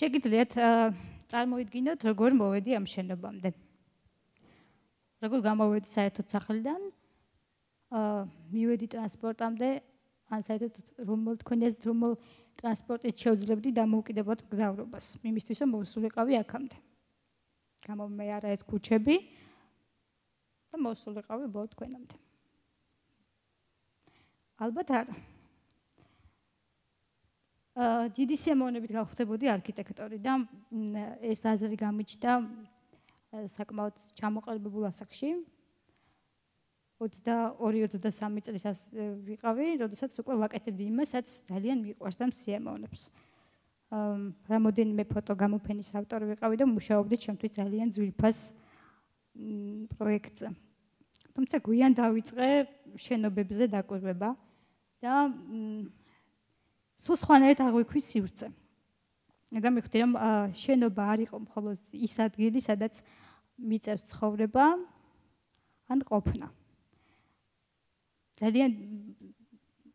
შეგიძლიათ წარმოიდგინოთ, როგორ მოვედი ამ შენობამდე. როგორ გამოვედი საერთოდ სახლიდან, მივედი ტრანსპორტამდე, ან საერთოდ რომელ ტრანსპორტით შევძლებდი დამოუკიდებლად მგზავრობას, იმისთვის რომ მოვსულიყავი აქამდე. გამომეარა ეს ქუჩები და მოვსულიყავი ბოლო თქვენამდე. ალბათ არა. დიდი სიამოვნებით გავხდებოდი არქიტექტორი და ეს აზრი გამიჩნდა საკმაოდ ჩამოყალიბებულ ასაკში. 22-23 წლის ვიყავი, როდესაც უკვე ვაკეთებდი იმასაც ძალიან მიყვარს და მსიამოვნებს. რამოდენიმე ფოტო გამოფენის ავტორი ვიყავი და მუშაობდი ჩემთვის ძალიან ძვირფას პროექტზე. თუმცა გვიან დავიწყე შენობებზე დაკვირვება და სულ სხვანაირად აღვიქვი სივრცე. და მივხვდი რომ შენობა არ იყო მხოლოდ ის ადგილი, სადაც მიწევს ცხოვრება ან ყოფნა. ძალიან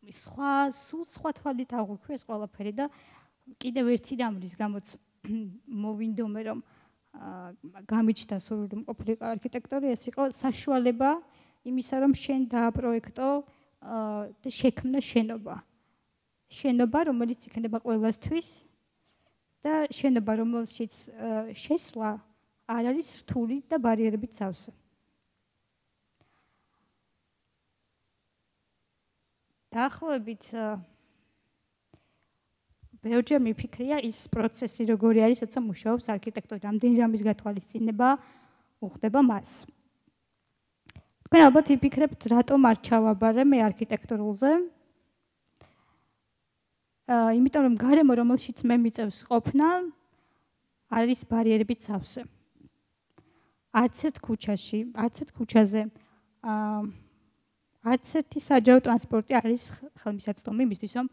სხვა თვალით აღვიქვი ეს ყველაფერი და კიდევ ერთი რამ რის გამოც მოვინდომე რომ გამიჩნდა სურვილი რომ ყოფილიყო არქიტექტორი, ეს იყო საშუალება იმისა რომ შენ დააპროექტო და შექმნა შენობა. შენობა, რომელიც იქნება ყველასთვის და შენობა, რომელშიც შესვლა არ არის რთული და ბარიერებით სავსე. დაახლოებით ბევრჯერ მიფიქრია ის პროცესი როგორი არის, როცა მუშაობს არქიტექტორი, რამდენი რამის გათვალისწინება უხდება მას. თქვენ ალბათ იფიქრებთ, რატომ არ ჩავაბარე მე არქიტექტურულზე? იმიტომ რომ გარემო, რომელშიც მე მიწევს ყოფნა, არის ბარიერებით სავსე. არც ერთ ქუჩაში, არც ერთ ქუჩაზე არც ერთი საჯარო ტრანსპორტი არის ხელმისაწვდომი იმისთვის, რომ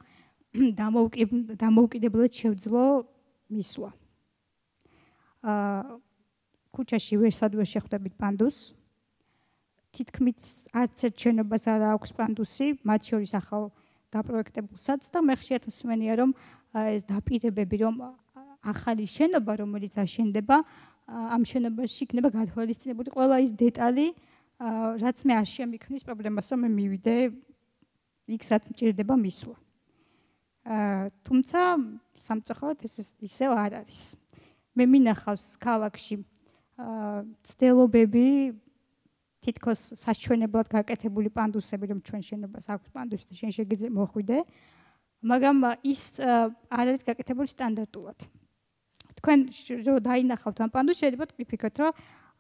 დამოუკიდებლად შევძლო მისვლა. ქუჩაში ვერსად ვერ შეხვდებით პანდუსს. თითქმის არც ერთ შენობას არ აქვს პანდუსი, მათ შორის ახალ დაპროექტებულსაც და მე ხშირად მსმენია რომ ეს დაპირებები რომ ახალი შენობა რომელიც აშენდება ამ შენობაში იქნება გათვალისწინებული ყველა ის დეტალი რაც მე არ შემიქმნის პრობლემას რომ მე მივიდე იქ-საც მჭირდება მისვლა. თუმცა სამწუხაროდ ეს ისევ არ არის. მე მინახავს ქალაქში ცდილობები თითქოს საჩვენებლად გაკეთებული პანდუსები, რომ ჩვენ შენობას აქვს პანდუსი და შენ შეგიძლია მოხვიდე, მაგრამ ის არ არის გაკეთებული სტანდარტულად. თქვენ რო დაინახავთ ამ პანდუსს, შეიძლება ვიფიქროთ, რომ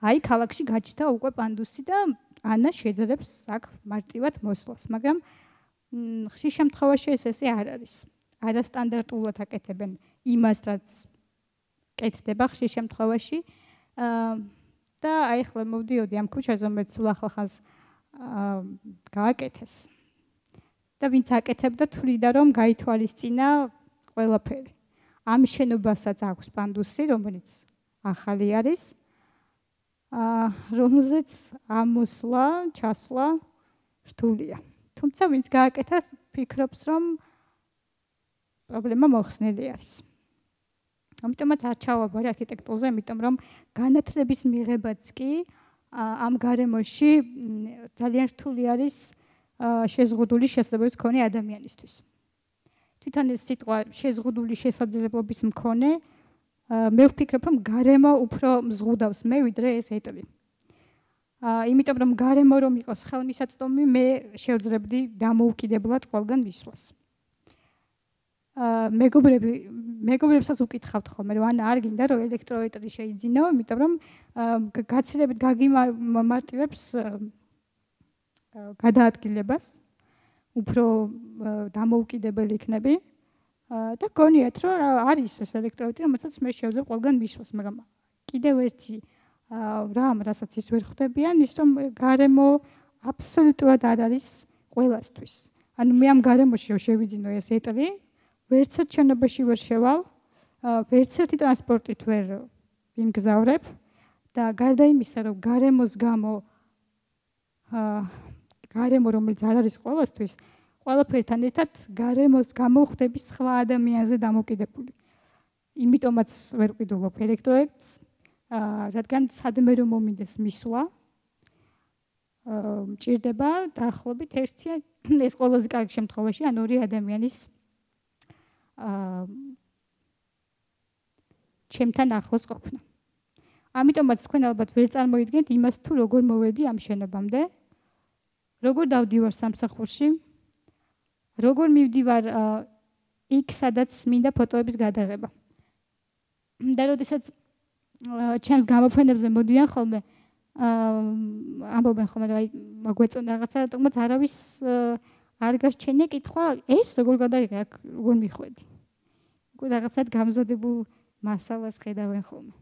აი ქალაქში გაჩნდა უკვე პანდუსი და ანა შეძლებს აქ მარტივად მოსვლას, მაგრამ ხშირ შემთხვევაში ესე არ არის. არასტანდარტულად აკეთებენ იმას, რაც კეთდება ხშირ შემთხვევაში. და აი ახლა მოვდიოდი ამ ქუჩაზე, რომელიც სულ ახლახანს გააკეთეს. და ვინც აკეთებდა, თვლიდა რომ გაითვალისწინა ყველაფერი. ამ შენობასაც აქვს პანდუსი, რომელიც ახალი არის, რომელზეც ამოსვლა, ჩასვლა რთულია. თუმცა ვინც გააკეთა, ფიქრობს რომ პრობლემა მოხსნილი არის. ამიტომაც არ ჩავაბარე არქიტექტურაზე, იმიტომ რომ განათლების მიღებაც კი ამ გარემოში ძალიან რთული არის შეზღუდული შესაძლებლობის მქონე ადამიანისთვის. თვითონ ეს სიტყვა შეზღუდული შესაძლებლობის მქონე, მე ვფიქრობ, რომ გარემო უფრო მზღუდავს მე ვიდრე ეს ეტლი. იმიტომ რომ გარემო რომ იყოს ხელმისაწვდომი, მე შევძლებდი დამოუკიდებლად ყველგან მისვლას. მეგობრებსაც უკითხავთ ხოლმე, რომ ანა არ გინდა რომ ელექტროეტლი შეიძინო, იმიტომ რომ გაცილებით გაგიმარტივებს გადაადგილებას, უფრო დამოუკიდებელი იქნები და გონიათ რომ არის ეს ელექტროეტლი, რომელსაც მე შევძლებ ყველგან მისვლას, მაგრამ კიდევ ერთი რამ, რასაც ის ვერ ხვდებიან, ის რომ გარემო აბსოლუტურად არ არის ყველასთვის. ანუ მე ამ გარემოში შევიძინო ეს ეტლი, ვერც ერთ შენობაში ვერ შევალ, ვერც ერთი ტრანსპორტით ვერ ვიმგზავრებ და გარდა იმისა, რომ გარემოს გამო გარემო რომელიც არ არის ყველასთვის, ყველაფერთან ერთად გარემოს გამო ხდები სხვა ადამიანზე დამოკიდებული. იმიტომაც ვერ ვყიდულობ ელექტროექტს, რადგან სადმე რომ მომინდეს მისვლა, მჭირდება დაახლოებით ერთი ეს ყველაზე კარგი შემთხვევაში ან ორი ადამიანის ჩემთან ახლოს ყოფნა. ამიტომაც თქვენ ალბათ ვერ წარმოიდგენთ იმას თუ როგორ მოვედი ამ შენობამდე, როგორ დავდივარ სამსახურში, როგორ მივდივარ იქ სადაც მინდა ფოტოების გადაღება. და როდესაც ჩემს გამოფენებზე მოდიან ხოლმე ამბობენ ხოლმე რომ მაგვეწონა რაღაცა, თუმცა არავის არ გასჩენია კითხვა, ეს როგორ გადაიღე აქ როგორ მიხვედი. უკვე რაღაცად გამზადებულ მასალას ხედავენ ხოლმე.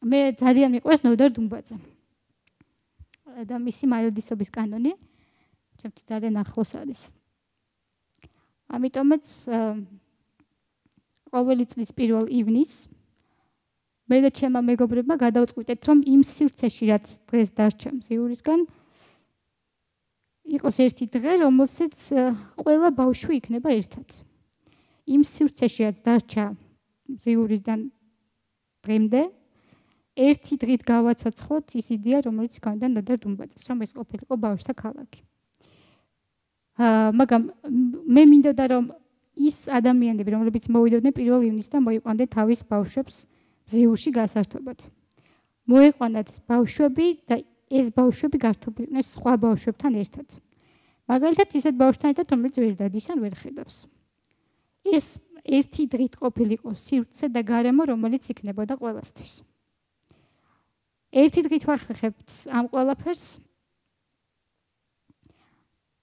მე ძალიან მიყვარს ნოდარ დუმბაძე. და მისი მარადისობის კანონი ჩემთვის ძალიან ახლოს არის. ამიტომაც ყოველი წლის 1 ივნისს მე და ჩემმა მეგობრებმა გადავწყვიტეთ, რომ იმ სივრცეში, რაც დღეს დარჩა მზიურისგან, იყოს ერთი დღე, რომელსაც ყველა ბავშვი იქნება ერთად. იმ სივრცეში, რაც დარჩა მზიურისგან დღემდე, ერთი დღით გავაცოცხლოთ ის იდეა, რომელიც გქონდა ნოდარ დუმბაძეს, რომ ეს ყოფილიყო ბავშვთა ქალაქი. მაგრამ მე მინდოდა, რომ ის ადამიანები, რომლებიც მოვიდოდნენ 1 ივნისს და მოიყვანდნენ თავის ბავშვებს მზიურში გასართობად. მოიყვანათ ბავშვები და ეს ბავშვები გართობილდნენ სხვა ბავშვებთან ერთად. მაგალითად, ისეთ ბავშვთან ერთად, რომელიც ვერ დადის ან ვერ ხედავს. ეს ერთი დღით ყოფილიყო სივრცე და გარემო, რომელიც იქნებოდა ყველასთვის. ერთი დღით ვახერხებთ ამ ყველაფერს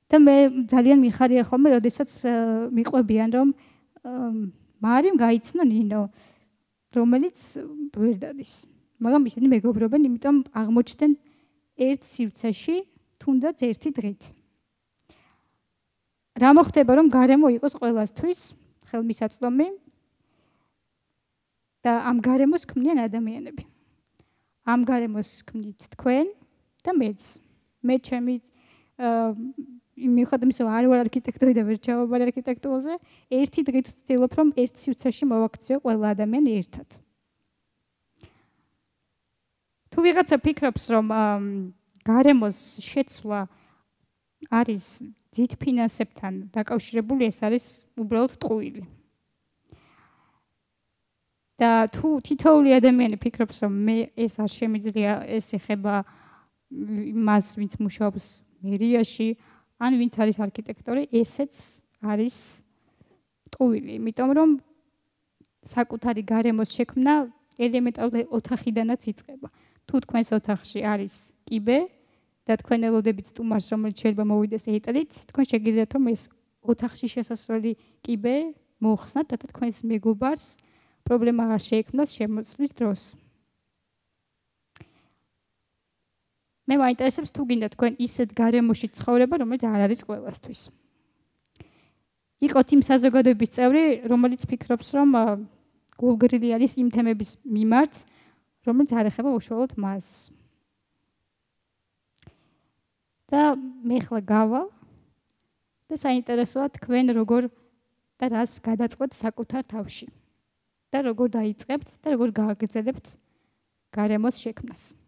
და მე ძალიან მიხარია ხოლმე, როდესაც მიყვებიან, რომ მარიმ გაიცნო ნინო, რომელიც ვერ დადის. მაგრამ ისინი მეგობრობენ, იმიტომ აღმოჩნდნენ ერთ სივრცეში, თუნდაც ერთი დღით. რა მოხდება, რომ გარემო იყოს ყველასთვის ხელმისაწვდომი და ამ გარემოს ქმნიან ადამიანები. ამ გარემოს ქმნით თქვენ და მეც. მე ჩემი მიუხედავად იმისა, რომ არ ვარ არქიტექტორი და ვერ ჩავაბარე არქიტექტურაზე, ერთი დღით ვცდილობ, რომ ერთ სივრცეში მოვაქციო ყველა ადამიანი ერთად. თუ ვიღაცა ფიქრობს, რომ გარემოს შეცვლა არის ძით ფინანსებთან დაკავშირებული, ეს არის უბრალოდ ტყუილი. და თუ თითოეული ადამიანი ფიქრობს, რომ მე ეს არ შემიძლია, ეს ეხება მას, ვინც მუშაობს მერიაში, ან ვინც არის არქიტექტორი, ესეც არის ტყუილი. იმიტომ რომ საკუთარი გარემოს შექმნა ელემენტარულად ოთახიდანაც იწყება. თუ თქვენს ოთახში არის კიბე და თქვენ ელოდებით სტუმარს, რომელიც შეიძლება მოვიდეს ეტლით, თქვენ შეგიძლიათ რომ ეს ოთახში შესასვლელი კიბე მოხსნათ და თქვენს მეგობარს პრობლემა არ შეექმნას შემოცლის დროს. მე მაინტერესებს თუ გინდა თქვენ ისეთ გარემოში ცხოვრება, რომელიც არ არის ყველასთვის. იყოთ იმ საზოგადოების წევრი, რომელიც ფიქრობს, რომ გულგრილი არის იმ თემების მიმართ, რომელიც არ ეხება უშუალოდ მას. და მე ხლა გავალ და საინტერესოა თქვენ როგორ და რას გადაწყვეტთ საკუთარ თავში. და როგორ დაიწყებთ და როგორ გააგრძელებთ გარემოს შექმნას.